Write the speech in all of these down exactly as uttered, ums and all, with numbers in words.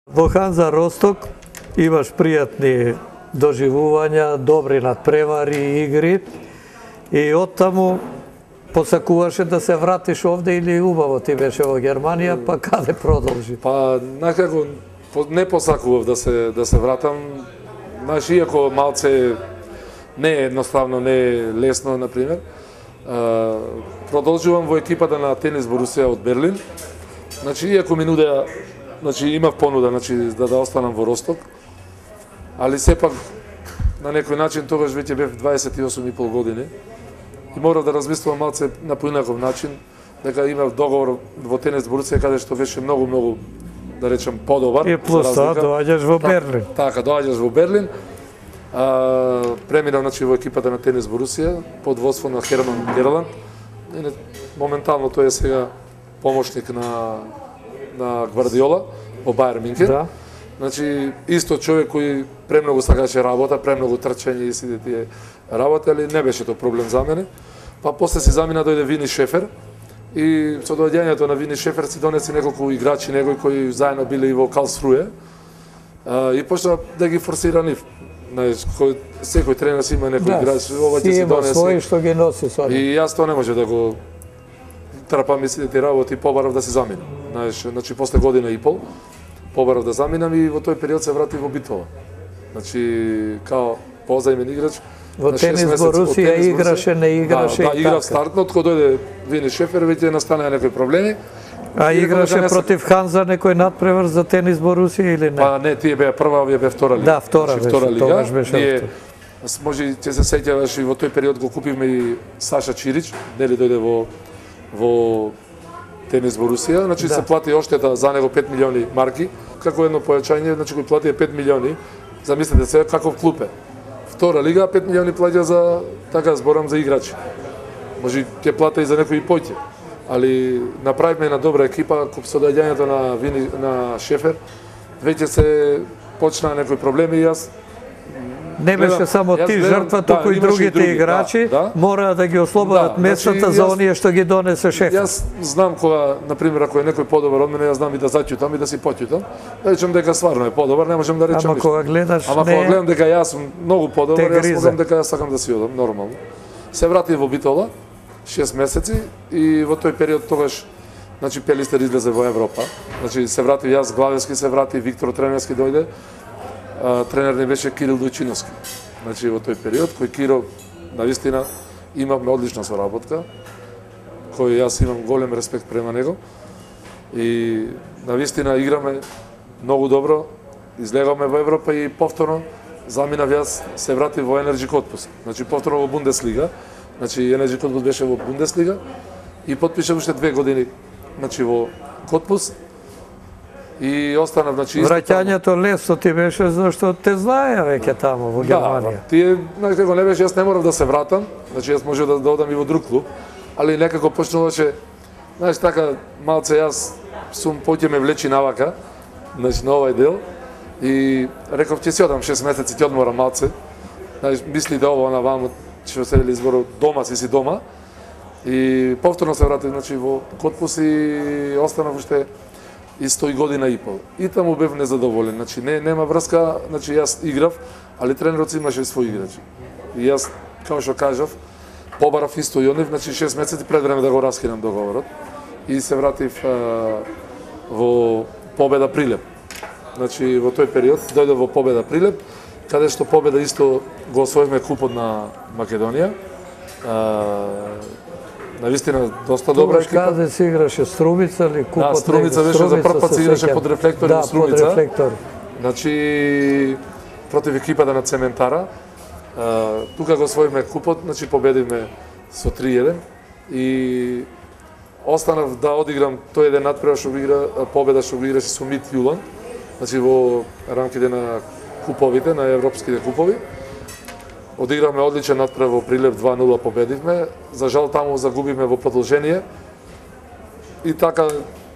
Во Ханза Росток имаш пријатни доживувања, добри надпревари, игри и оттаму посакуваше да се вратиш овде или убаво ти беше во Германија, па каде продолжи? Па некако не посакував да се да се вратам. Знаеш, иако малце не е едноставно, не е лесно, например. Продолжувам во екипата на Тенис Борусија од Берлин. Значи, иако ми нудеа, значи имав понуда, значи да да останам во Росток, али сепак на некој начин тогаш веќе бев дваесет и осум и пол години и морав да размислувам малце на поинаков начин, дека имав договор во Тенис Борусија каде што беше многу многу да речем подобар. И плюс тоа доаѓаш во Берлин. Така, доаѓаш во Берлин. А, преминав значи во екипата на Тенис Борусија под водство на Херман Герланд. Моментално тој е сега помошник на на Гвардиола во Бајер Минкен. Да. Значи исто човек кој премногу сакаше работа, премногу трчање и сите тие работи, али не беше тоа проблем за мене. Па после си замина дојде Вини Шефер и со доаѓањето на Вини Шефер си донесе неколку играчи негои кои заедно биле и во Карлсруе. И почна да ги форсира нив. Знаеш, кој секој тренер си има некој да, играч, ова ќе си донесе. Свој што ги носи со. И јас тоа не може да го трапам и сите работи, побарав да се заминам. Знаеш, значи после година и пол побарав да заминам и во тој период се вратив во битова. Значи као позајмен играч. Во Тенис Борусија играше, не играше. Да, да, играв стартнот, кога дојде Вини Шефер, веќе настанаа некои проблеми. А играше против Ханза некој надпревар за Тенис Борусија или не? Па не, тие беа прва, овие беа втора лига. Да, втора беше, втора лига. Тогаш беше. Ние, може ќе се сеќаваш и во тој период го купивме и Саша Чирич, нели дојде во во Тенис Борусија, значи да. Се плати оштета за него пет милиони марки, како едно појачање, значи кој плати пет милиони, замислете се каков клуб е. Втора лига пет милиони плаќа за, така зборам, за играчи. Може ќе плата и за некои поќе. Али направивме една добра екипа, со доаѓањето на Вини, на Шефер, веќе се почнаа некои проблеми и јас не беше само ти жртва, туку и другите играчи да, да. Мора да ги ослободат да, местата значи, за оние што ги донесе Шефер. Јас знам кога, например, ако е некој подобар од мене, јас знам и да заќутам и да си поќутам. Да речем дека стварно е подобар, не можам да речем. Ама кога гледаш, Ама не... кога гледам дека јас сум многу подобар, јас можам дека јас сакам да си одам нормално. Се вратив во Битола шест месеци и во тој период тогаш значи Пелистер излезе во Европа. Значи се вратив јас, Главевски се врати, Виктор Тренерски дојде. А, тренер не беше Кирил Дојчиновски. Значи во тој период кој Киро навистина имавме одлична соработка, кој јас имам голем респект према него и навистина играме многу добро, излегавме во Европа и повторно заминав јас, се вратив во Енерджи Котпус. Значи повторно во Бундеслига. Значи Енерджи Котпус беше во Бундеслига и потпишав уште две години значи во Котпус. И останав, значи, враќањето лесно ти беше зашто те знаеа веќе таму во Германија. Да, тие, знаеш како не беше, јас не морав да се вратам, значи јас можев да, да одам и во друг клуб, али некако почнуваше, знаеш така, малце јас сум поќе ме влечи навака, значи на овај дел, и реков ќе си одам шест месеци, ќе одморам малце, знаеш, мисли да ова, она ваму, што се вели зборот, дома си си дома, и повторно се вратив, значи, во Котпус и останав уште исто и година и пол. И таму бев незадоволен. Значи не нема врска, значи јас играв, али тренерот имаше своји играчи. И јас, како што кажав, побарав исто и онив, значи шест месеци пред време да го раскинам договорот. И се вратив а, во Победа Прилеп. Значи во тој период дојде во Победа Прилеп, каде што Победа исто го освоивме купот на Македонија. А, навистина доста добра екипа. Каде се играше Струмица или купот? Да, Струмица беше за прв пат се играше под рефлектори да, во Струмица. Под рефлектор. Значи против екипата на Цементара. А, тука го освоивме купот, значи победивме со три еден и останав да одиграм тој еден надпревар што игра победа што го играше со Мит Јулан. Значи во рамките на куповите, на европските купови. Одигравме одличен надпревар во Прилеп, два нула победивме. За жал таму загубивме во продолжение. И така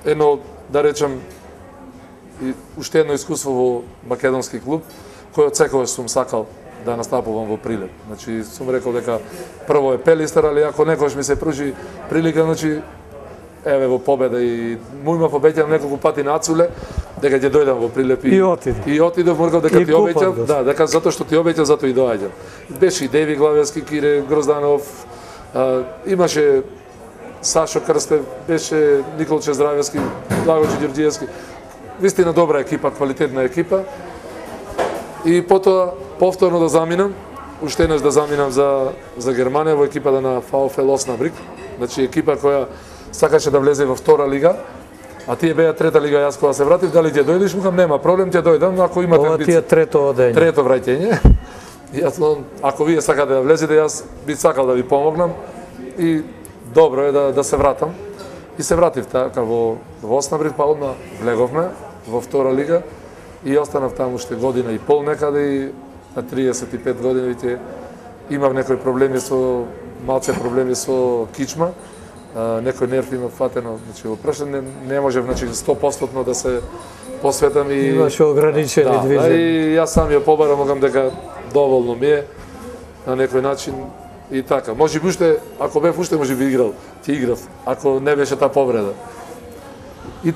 едно, да речем, и уште едно искуство во македонски клуб, кој од секогаш сум сакал да настапувам во Прилеп. Значи сум рекол дека прво е Пелистер, али ако некојаш ми се пружи прилика, значи еве во Победа и му имав обеќано неколку пати на Ацуле, дека ќе дојдам во Прилеп и отиде. И отидов, моргав дека И ти обеќав, купат, да, дека затоа што ти обеќав, затоа и доаѓам. Беше и Деви Главевски, Кире Грозданов, а, имаше Сашо Крстев, беше Николче Здравевски, Благојче Ѓорѓиевски. Вистина добра екипа, квалитетна екипа. И потоа повторно да заминам, уште еднаш да заминам за за Германија во екипата на VfL Osnabrück. Значи екипа која сакаше да влезе во втора лига. А тие беа трета лига, јас кога се вратив, дали ќе дојдеш, мукам нема проблем, ќе дојдам, ако имате Ова ти е трето одење. Трето враќање. Јас, ако вие сакате да влезете, јас би сакал да ви помогнам и добро е да да се вратам. И се вратив така во во Osnabrück, па одма влеговме во втора лига и останав таму уште година и пол некаде и на триесет и пет години веќе имав некои проблеми со малце проблеми со кичма. Uh, некој нерв има фатено, значи во прашање не, не можев значи сто проценти да се посветам и имаше ограничени да, движења. Да, и јас сам ја побарам, могам дека доволно ми е на некој начин и така. Може би уште, ако бев уште може би играл, ти играв, ако не беше таа повреда. И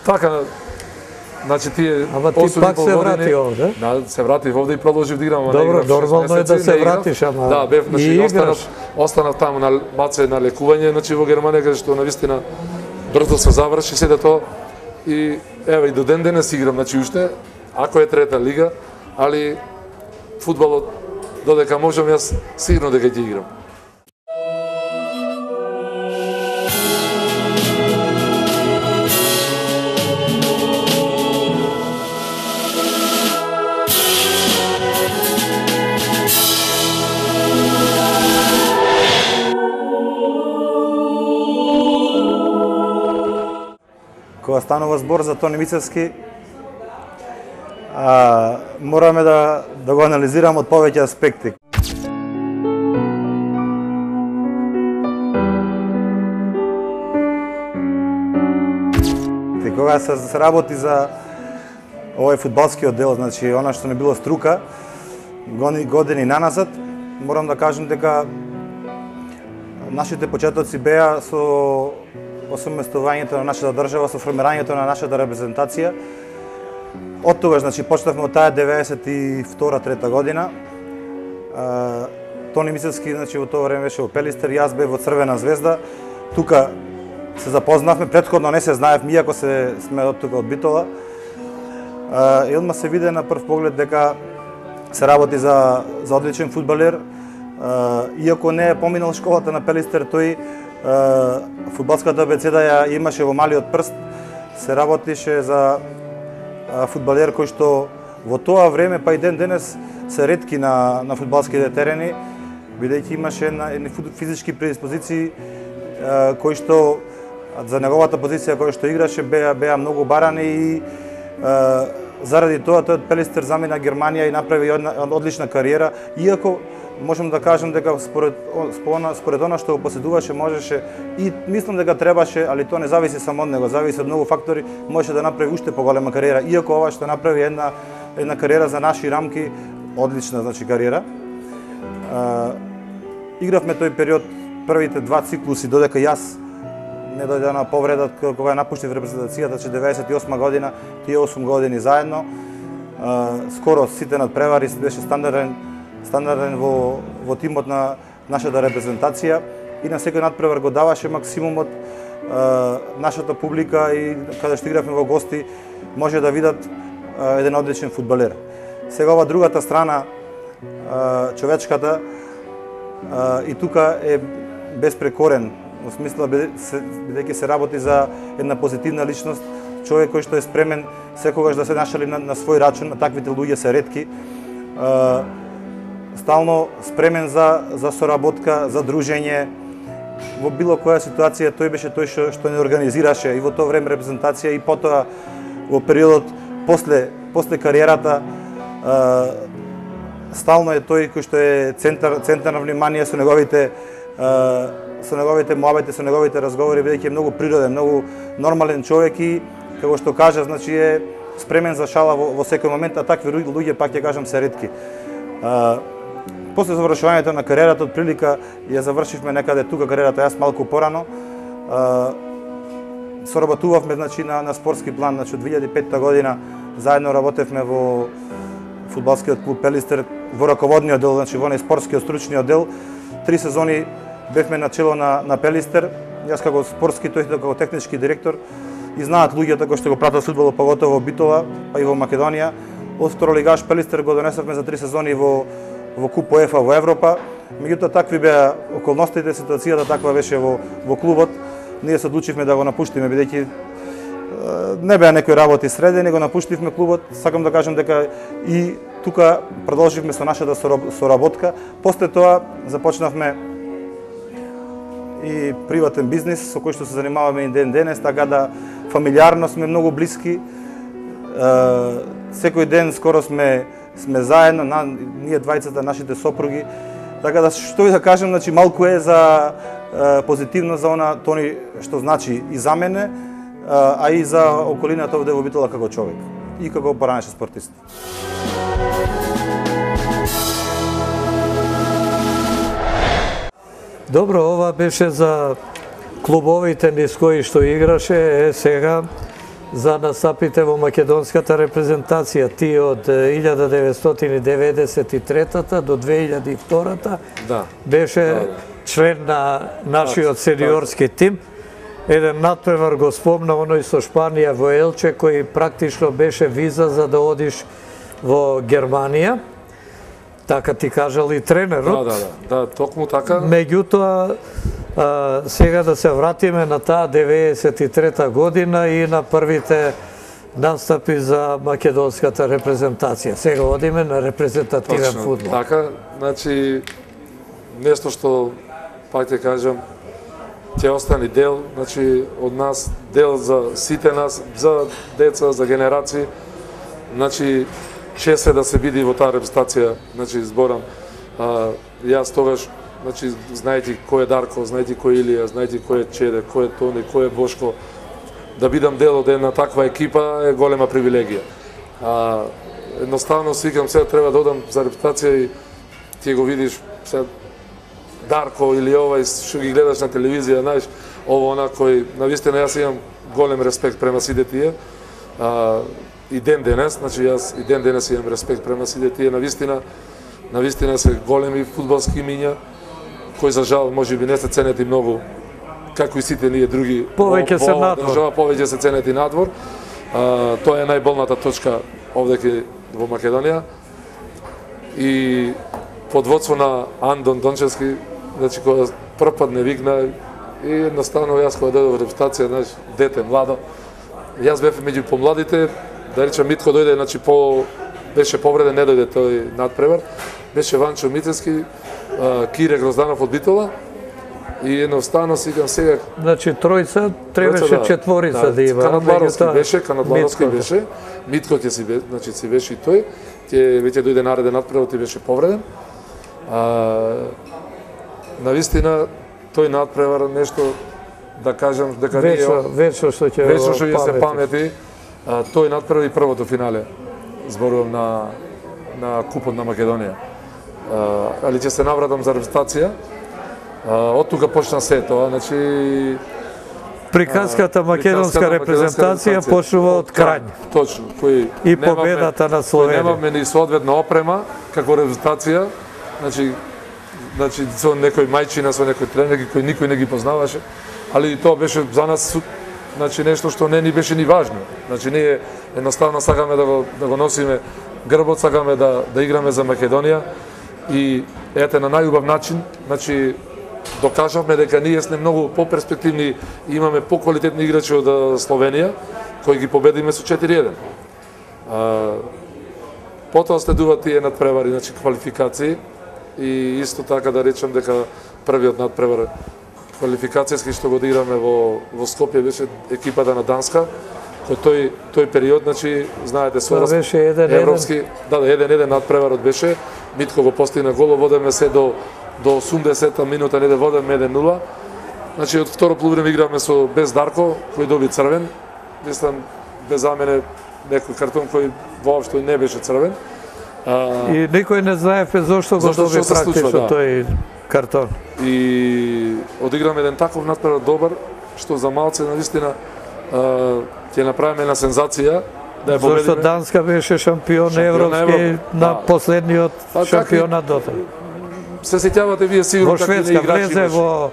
така, значи тие Ама ти пак се врати овде? Да, се вратив овде и продолжив да играм. Добро, нормално е да се вратиш, ама да, бев, значи, и останав, останав таму на маце на лекување, значи во Германија, каде што навистина брзо се заврши седе тоа и еве и до ден денес играм, значи уште, ако е трета лига, али фудбалот додека можам јас сигурно дека ќе играм. Кога станува збор за Тони Мицевски, а, мораме да, да го анализираме од повеќе аспекти. И кога се, се работи за овој фудбалскиот дел, значи она што не било струка, години, години наназад, морам да кажам дека нашите почетоци беа со осуместувањето на нашата држава, со формирањето на нашата репрезентација. Од тогаш, значи, почнавме од таа деветдесет и втора трета година. А, Тони Мицевски, значи, во тоа време беше во Пелистер, јас бев во Црвена звезда. Тука се запознавме, претходно не се знаевме, иако се сме од тука од Битола. А, и одма се виде на прв поглед дека се работи за, за одличен фудбалер. А, иако не е поминал школата на Пелистер, тој фудбалската абецеда ја имаше во малиот прст, се работише за фудбалер кој што во тоа време, па и ден денес, се ретки на, на фудбалските терени, бидејќи имаше едни физички предиспозиции кои што за неговата позиција која што играше беа, беа многу барани и заради тоа тој од Пелистер замина Германија и направи една одлична кариера, иако можам да кажам дека според според она што го поседуваше можеше и мислам дека требаше, али тоа не зависи само од него, зависи од многу фактори, можеше да направи уште поголема кариера, иако ова што направи една една кариера за наши рамки, одлична значи кариера. А, игравме тој период првите два циклуси додека јас не дојде на повреда кога ја напуштив репрезентацијата, че деветдесет и осма година, тие осум години заедно. А, скоро сите надпревари беше стандарден стандарден во, во тимот на нашата репрезентација и на секој надпревар го даваше максимумот. А, нашата публика и каде што игравме во гости може да видат а, еден одличен фудбалер. Сега ова другата страна, а, човечката, а, и тука е безпрекорен, во смисла бидејќи се работи за една позитивна личност, човек кој што е спремен секогаш да се нашали на, на свој рачун, на таквите луѓе се ретки. А, стално спремен за, за соработка, за дружење. Во било која ситуација тој беше тој што, што не организираше и во тоа време репрезентација и потоа во периодот после, после кариерата а, стално е тој кој што е центар, центар на внимание со неговите а, со неговите муабети, со неговите разговори, бидејќи е многу природен, многу нормален човек и како што кажа, значи е спремен за шала во, во секој момент, а такви луѓе пак ќе кажам се ретки. А, После завршувањето на кариерата, од прилика ја завршивме некаде тука кариерата, јас малку порано. соработувавме значи на на спортски план, значи од две илјади и петта година заедно работевме во фудбалскиот клуб Пелистер во раководниот дел, значи во спортскиот стручниот дел. Три сезони бевме на чело на на Пелистер, јас како спортски, тој како технички директор, и знаат луѓето кои што го пратат фудбалот, поготово во Битола, па и во Македонија. Од второлигаш Пелистер го донесовме за три сезони во во Куп УЕФА во Европа. Меѓутоа такви беа околностите, ситуацијата таква беше во во клубот. Ние се одлучивме да го напуштиме бидејќи не беа некои работи средени, го напуштивме клубот. Сакам да кажам дека и тука продолживме со нашата соработка. После тоа започнавме и приватен бизнис со кој што се занимаваме и ден денес, така да фамилиарно сме многу блиски. Секој ден скоро сме сме заедно, на, ние двајцата, нашите сопруги. Така да што и да кажам, значи малку е за е, позитивно за она тони што значи и за мене, а и за околината овде во Битола како човек и како поранеше спортист. Добро, ова беше за клубовите низ кои што играше, е сега за настапите во македонската репрезентација. Ти од илјада деветстотини деветдесет и трета до две илјади и втора да. беше да, да. член на нашиот сениорски тим. Еден надпревар го спомна оној со Шпанија во Елче, кој практично беше виза за да одиш во Германија. Така ти кажал и тренерот. Да, да, да, да, токму така. Меѓутоа, а, сега да се вратиме на таа деветдесет и трета година и на првите настапи за македонската репрезентација. Сега одиме на репрезентативен Точно, фудбал. Така, значи, нешто што, пак ќе кажам, ќе остане дел, значи, од нас, дел за сите нас, за деца, за генерации. Значи, чест е да се види во таа репрезентација, значи, зборам, а, јас тогаш, значи, знаејќи кој е Дарко, знаејќи кој е Илија, знаејќи кој е Чеде, кој е Тони, кој е Бошко, да бидам дел од една таква екипа е голема привилегија. А, едноставно свикам, сега треба да одам за репрезентација и ти го видиш сега Дарко или овај што ги гледаш на телевизија, знаеш, ово она кој навистина јас имам голем респект према сите тие. А, и ден денес, значи јас и ден денес имам респект према сите тие, навистина, навистина се големи фудбалски имиња кои за жал можеби не се ценет и многу како и сите ние други. Повеќе се надвор. Држава повеќе се ценет и надвор. А, тоа е најболната точка овде во Македонија. И под водство на Андон Дончевски, значи кога прв пат не викна и едноставно јас кога дојдов во репрезентација, знаеш, дете, младо, јас бев меѓу помладите, да речем Митко дојде, значи по беше повреден, не дојде тој надпревар, беше Ванчо Мицевски, Кире Грозданов од Битола и едноставно сикам сега. Значи тројца требаше да, четворица да, да има. Канадларовски беше, Канадларовски беше, Митко ќе си беше, значи си беше и тој, ќе веќе дојде нареден надпревар, ти беше повреден. А, навистина тој надпревар нешто да кажам дека вечно, вечно што ќе вечно што ќе се памети. А, тој надпревар и првото финале. Зборувам на на Купот на Македонија. А, али ќе се навратам за репрезентација. Од тука почна се тоа, значи приказката македонска репрезентација почнува од Крањ. Точно, кој и победата на Словенија. Немавме ни соодветна опрема како репрезентација, значи значи со некој мајчина, со некој тренер кој никој не ги познаваше, али тоа беше за нас значи нешто што не ни беше ни важно. Значи ние едноставно сакаме да го да го носиме грбот, сакаме да да играме за Македонија и ете на најубав начин, значи докажавме дека ние сме многу поперспективни и имаме поквалитетни играчи од Словенија кои ги победиме со четири еден. А, потоа следуваат тие надпревари, значи квалификации и исто така да речем дека првиот надпревар квалификацијски што го играме во во Скопје беше екипата на Данска, кој тој тој период, значи знаете со да, беше еден европски, да, да, еден еден надпреварот беше, Митко го постигна гол, водеме се до до осумдесета минута, не да водеме еден нула. Значи од второ полувреме играме со без Дарко, кој доби црвен. Мислам без за мене некој картон кој воопшто не беше црвен. А, и никој не знаеве зошто го доби практично да. Тој картон. И одиграме еден таков надпревар добар, што за малце навистина ќе направиме една сензација да ја победиме. Зашто Данска беше шампион Шампион европски Европа, на да. последниот Па, шампионат дотај. Се сеќавате вие сигурно Во какви Шведска играчи влезе имаше. во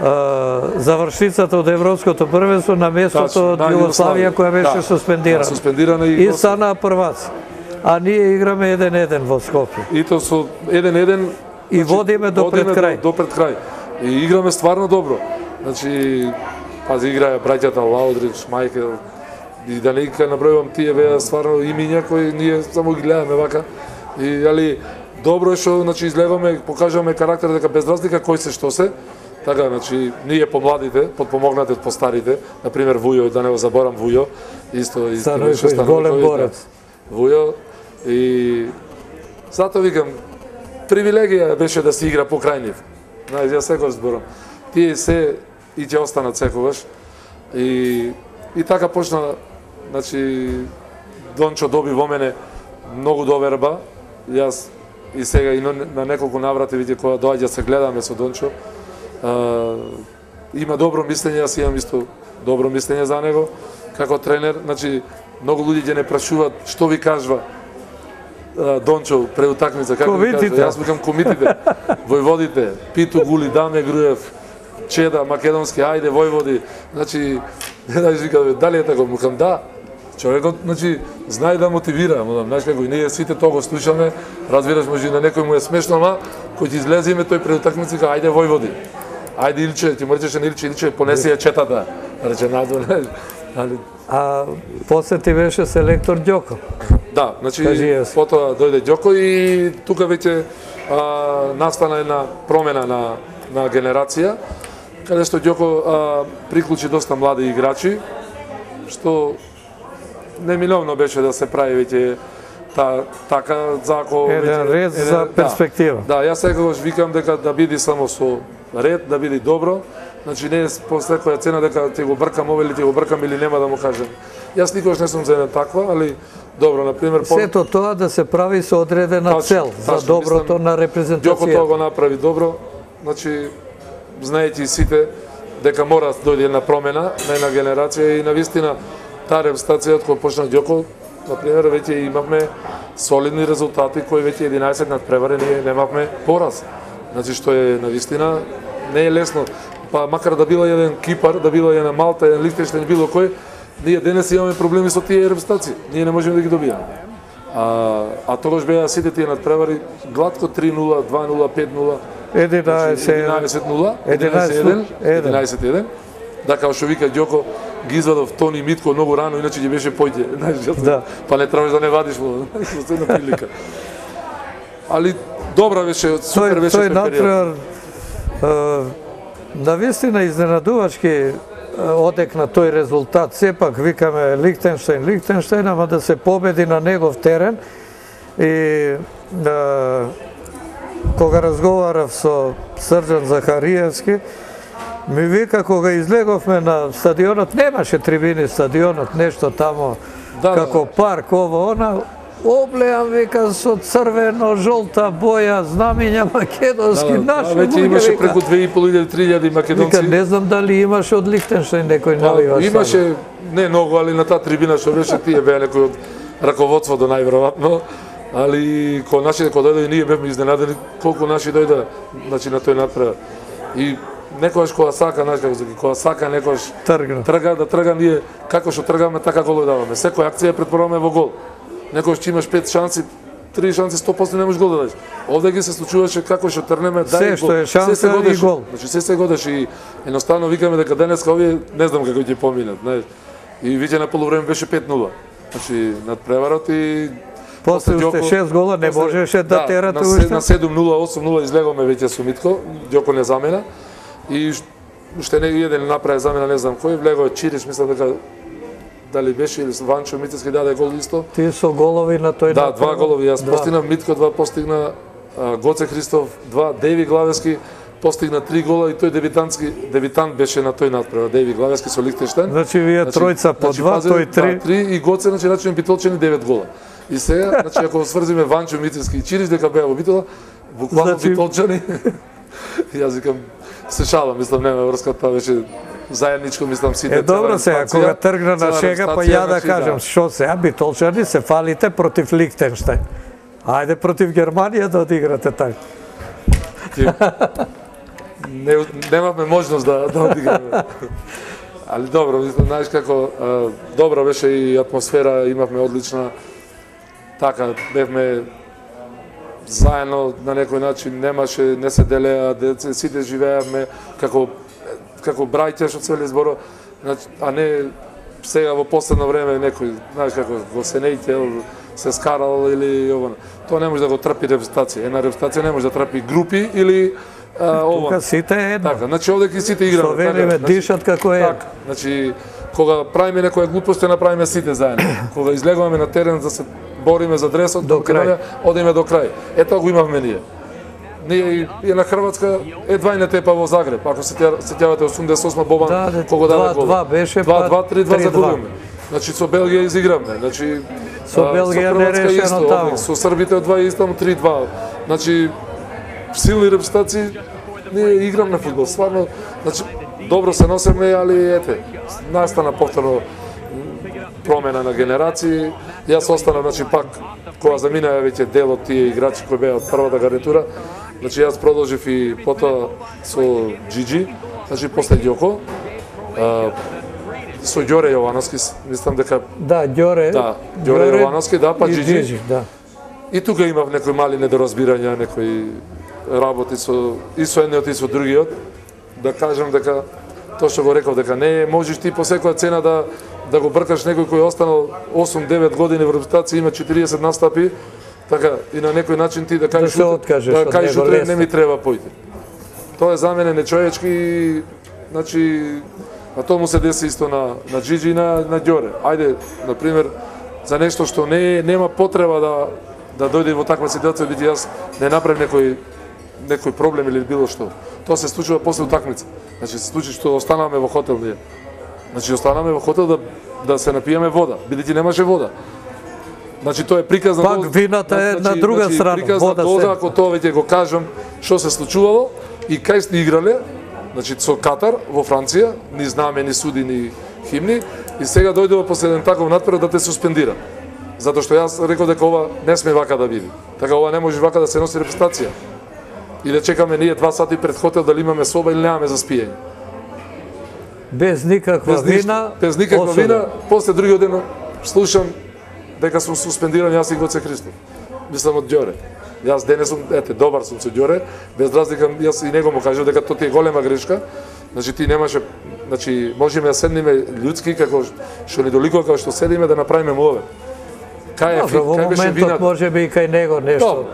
а, завршицата од европското првенство на местото Тачно, од на Југославија која беше Да. суспендирана. Да, суспендирана и, И и стана прваци. А ние играме еден еден во Скопје. и то со еден еден И водиме до пред крај. До, до пред крај. И играме стварно добро. Значи, пази играа браќата Лаудрич, Майкел, и да не ка набројувам тие беа стварно имиња кои ние само ги гледаме вака. И али добро е што значи излегаме, покажуваме карактер дека без разлика кој се што се. Така, значи, ние помладите, подпомогнати од постарите, на пример Вујо, да не го заборам Вујо, исто исто Становиќ, голем борец. Вујо и затоа викам привилегија беше да се игра покрај нив. Знаеш, ја секогаш зборам. Тие се и ќе останат секогаш. И и така почна, значи Дончо доби во мене многу доверба. Јас и сега и на, на неколку наврати види кога доаѓа се гледаме со Дончо. А, има добро мислење, јас имам исто добро мислење за него како тренер. Значи многу луѓе ќе не прашуваат што ви кажува Дончо пред утакмица, како ви кажува. Јас викам комитите, војводите, Питу Гули, Даме Груев, Чеда, македонски, ајде војводи. Значи, не да викам, дали е така? Мукам, да. Човекот, значи, знае да мотивира, модам, знаеш како и ние сите тоа го слушаме, разбираш, може на некој му е смешно, ама кој ќе излеземе тој пред утакмица вика, ајде војводи. Ајде Илче, ти му речеше на Илче, Илче, понеси ја четата. Рече надвор, али А после ти беше селектор Ѓоко. да, значи Кажи јас. потоа дојде Ѓоко и тука веќе а, настана една промена на на генерација, каде што Ѓоко а, приклучи доста млади играчи, што неминовно беше да се прави веќе та така зако Еден ред за перспектива. Да, да, јас секогаш викам дека да биде само со ред, да биде добро. Значи не е по секоја цена дека ќе го бркам ова или ќе го бркам или нема да му кажам. Јас никогаш не сум за една таква, али добро, на пример, по... Сето тоа да се прави со одредена Тачно, цел за тачно, доброто мислам, на Ѓоко репрезентацијата. тоа го направи добро. Значи знаејќи сите дека мора да дојде една промена на една генерација и навистина таа репрезентација од која почна Ѓоко, на пример, веќе имавме солидни резултати кои веќе единаесет надпревари ние немавме пораз. Значи што е навистина не е лесно. Па макар да била еден Кипар, да била една Малта, еден Лихтенштеин, било кој, ние денес имаме проблеми со тие репрезентации. Ние не можеме да ги добиеме. А, а тогаш беа сите тие надпревари гладко три нула, два нула, пет нула, единаесет нула, единаесет еден. Да, као што вика Ѓоко, ги извадов Тони Митко многу рано, иначе ќе беше појде. Да. Па не требаш да не вадиш во една прилика. Али добра беше, супер беше тој тој период. натпревар навистина изненадувачки одекна тој резултат. Сепак викаме Лихтенштеин, Лихтенштеин, ама да се победи на негов терен. И да, кога разговарав со Срđan Захариевски, ми вика кога излеговме на стадионот, немаше трибини стадионот, нешто тамо Да, како парк, ово, она, облеам, вика, со црвено, жолта боја, знамиња македонски, Да, да, наши веќе луѓе, имаше вика. преку две и пол илјади три илјади македонци. Вика, не знам дали имаше од Лихтенштеин некој Па, навивач. имаше не многу, али на таа трибина што беше тие беа некои од раководството најверојатно. Али кога нашите кога дојде и ние бевме изненадени колку наши дојде, значи на тој надпревар. И некогаш кога сака, знаеш како се кога сака некогаш Тргна. трга да трга ние како што тргаме така гол даваме. Секоја акција ја претворуваме во гол. Некогаш ќе имаш пет шанси, три шанси сто проценти не можеш гол да дадеш. Овде ги се случуваше како што трнеме, Се дај што гол. е шанса се и годеше. гол. Значи се се годеше и едноставно викаме дека денеска овие не знам како ќе поминат, знаеш. И веќе на полувреме беше пет нула. Значи надпреварот и После уште Ѓоко- шест гола не после- можеше да терате на се- уште. На седум нула, осум нула излегоме веќе со Митко, Ѓоко не замена. И ш- уште не еден направи замена, не знам кој, влегува Чириш, мислам дека дали беше или Ванчо Митевски даде гол исто. Ти со голови на тој Да, напад. два голови, јас Два. постигнав, Митко два постигна, а, Гоце Христов два, Деви Главески постигна три гола и тој дебитантски дебитант беше на тој надпревар, Деви Главески со Лихтенштеин. Значи вие тројца по два, пази, тој три. Да, три и Гоце, значи рачуjem битолчени девет гола. И сега, значи ако сврзиме Ванчо Митевски и Чириш дека беа во битола, буквално Значи- битолчани. Јас викам се шалам, мислам нема врска, тоа беше заедничко, мислам, сите. Е, добро се, репстација, кога тргна на цела шега, па репстација, ја да значи, кажам, што се, а битолчани се фалите против Лихтенштајн. Ајде против Германија да одиграте така. Не, немавме можност да, да одиграме. Али добро, мислам, знаеш како, а, добра беше и атмосфера, имавме одлична, така, бевме заедно на некој начин, немаше, не се делеа, деца, сите живеевме како, како браќа што цели зборо, а не сега во последно време некој, знаеш како, го се нејтел, се скарал или ово. Тоа не може да го трпи репстација. Една репстација не може да трпи групи или а, ово. Тука сите е едно. Така, значи овде ки сите играме. Што велиме, така, дишат како е. Така, значи кога правиме некоја глупост, ја направиме сите заедно. Кога излегуваме на терен да се бориме за дресот, до крај. Одиме до крај. Ето го имавме ние. Ние и, и на Хрватска едва и не тепа во Загреб. Ако се сеќавате осумдесет и осма Бобан, да, кога даде гол. два два беше, два два, три два три два. загубиме. Значи со Белгија изигравме. Значи со Белгија не решено таму. Со Србите од два исто три два. Значи силни репстаци, ние играмме фудбал. Стварно, значи добро се носеме, али ете, настана повторно промена на генерации. Јас останав, значи пак кога заминаа веќе дел од тие играчи кои беа од првата гарнитура. Значи јас продолжив и потоа со Джиджи, значи после Ѓоко. Со Ѓоре Јовановски, мислам дека Да, Ѓоре. Да, Ѓоре Јовановски, да, па Джиджи. Джиджи, да. И тука имав некои мали недоразбирања, некои работи со и со едниот и со другиот. Да кажам дека тоа што го реков дека не можеш ти по секоја цена да да го бркаш некој кој останал осум девет години во репутација, има четириесет настапи, така и на некој начин ти да кажеш да се откажеш да кажеш од него, утре не ми треба појде. Тоа е за мене нечовечки, значи а тоа му се деси исто на на Джиджи и на на Ѓоре. Ајде, на пример, за нешто што не нема потреба да да дојде во таква ситуација, бидејќи јас не направив некој некој проблем или било што. Тоа се случува после утакмица. Значи се случи што останавме во хотел ние. Значи останавме во хотел да да се напиеме вода, бидејќи немаше вода. Значи тоа е приказ на Пак вината е на друга значи, страна, приказ вода на доза, се. ако тоа веќе го кажам што се случувало и кај сте играле, значи со Катар во Франција, ни знаме, ни суди, ни химни, и сега дојдува после еден таков натпред да те суспендира. Затоа што јас реков дека ова не сме вака да биде. Така ова не може вака да се носи репрезентација. И да чекаме ние два сати пред хотел дали имаме соба или немаме за спиење. Без никаква Без ништо, вина. без никаква осуда. вина, после другиот ден слушам дека сум суспендиран јас и Гоце Христов. Мислам од Ѓоре. Јас денес сум, ете, добар сум со Ѓоре, без разлика, јас и него му кажав дека тоа ти е голема грешка. Значи ти немаше, значи можеме да седниме људски како што ни доликува како што седиме да направиме мове. Кај е Во кај беше моментот вината? може би и кај него нешто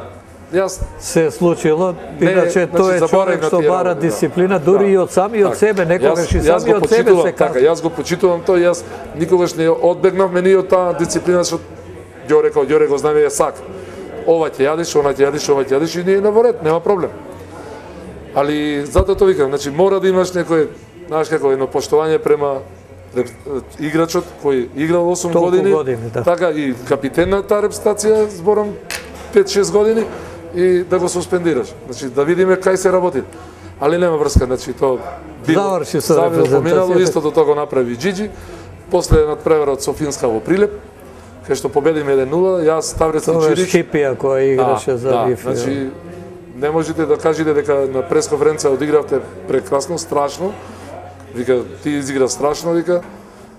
Јас се е случило, Не, иначе значи, тој е заборав човек на што тие бара работи, да. дисциплина, дури Да. и од сами од Так. себе, некогаш и Јас- јас сами го од себе почитувам, се така, казва. јас го почитувам тој, јас никогаш не одбегнавме ние од таа дисциплина што Ѓоре као Ѓоре го знаме е сак. Ова ќе јадиш, она ќе јадиш, ова ќе јадиш и ние на воред, нема проблем. Али затоа тоа викам, значи мора да имаш некој, знаеш како, едно поштовање према реп- играчот кој играл осум Толку години, години, да. така и капитен на таа репстација, зборам пет шест години, и да го суспендираш. Значи да видиме кај се работи. Али нема врска, значи тоа било. Заврши со Завило, поминало, репрезентацијата. истото тоа го направи Джиджи. После надпреварот Софинска во Прилеп, кај што победиме еден нула, јас Ставрецки Тоа е Чирич. Шипија која играше за да, Вифи. значи не можете да кажете дека на пресконференција одигравте прекрасно, страшно. Вика ти изигра страшно, вика.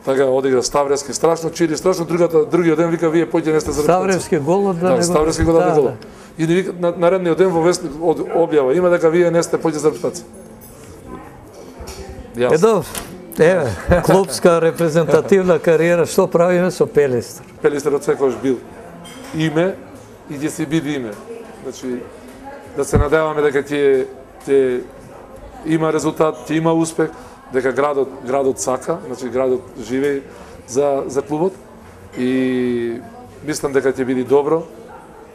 Така одигра Ставревски страшно, Чири страшно, другата другиот ден вика вие појдете не сте за Ставревски голот да, Да, не Ставревски го даде гол. И ни вика на наредниот ден во вестник од објава има дека вие не сте појдете за репстација. Е добро. Еве, клубска репрезентативна кариера, што правиме со Пелистер? Пелистерот секогаш бил име и ќе си биде име. Значи да се надеваме дека ќе ќе има резултат, ќе има успех, дека градот градот сака, значи градот живее за за клубот и мислам дека ќе биде добро.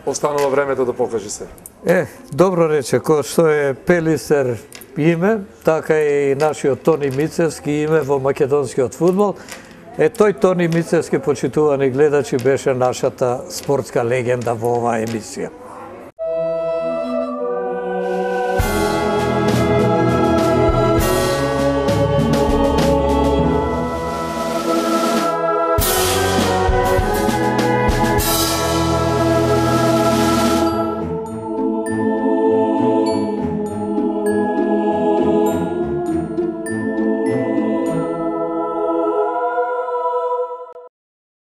Останува времето да покаже се. Е, добро рече, кој што е Пелистер име, така и нашиот Тони Мицевски име во македонскиот фудбал. Е, тој Тони Мицевски, почитувани гледачи, беше нашата спортска легенда во оваа емисија.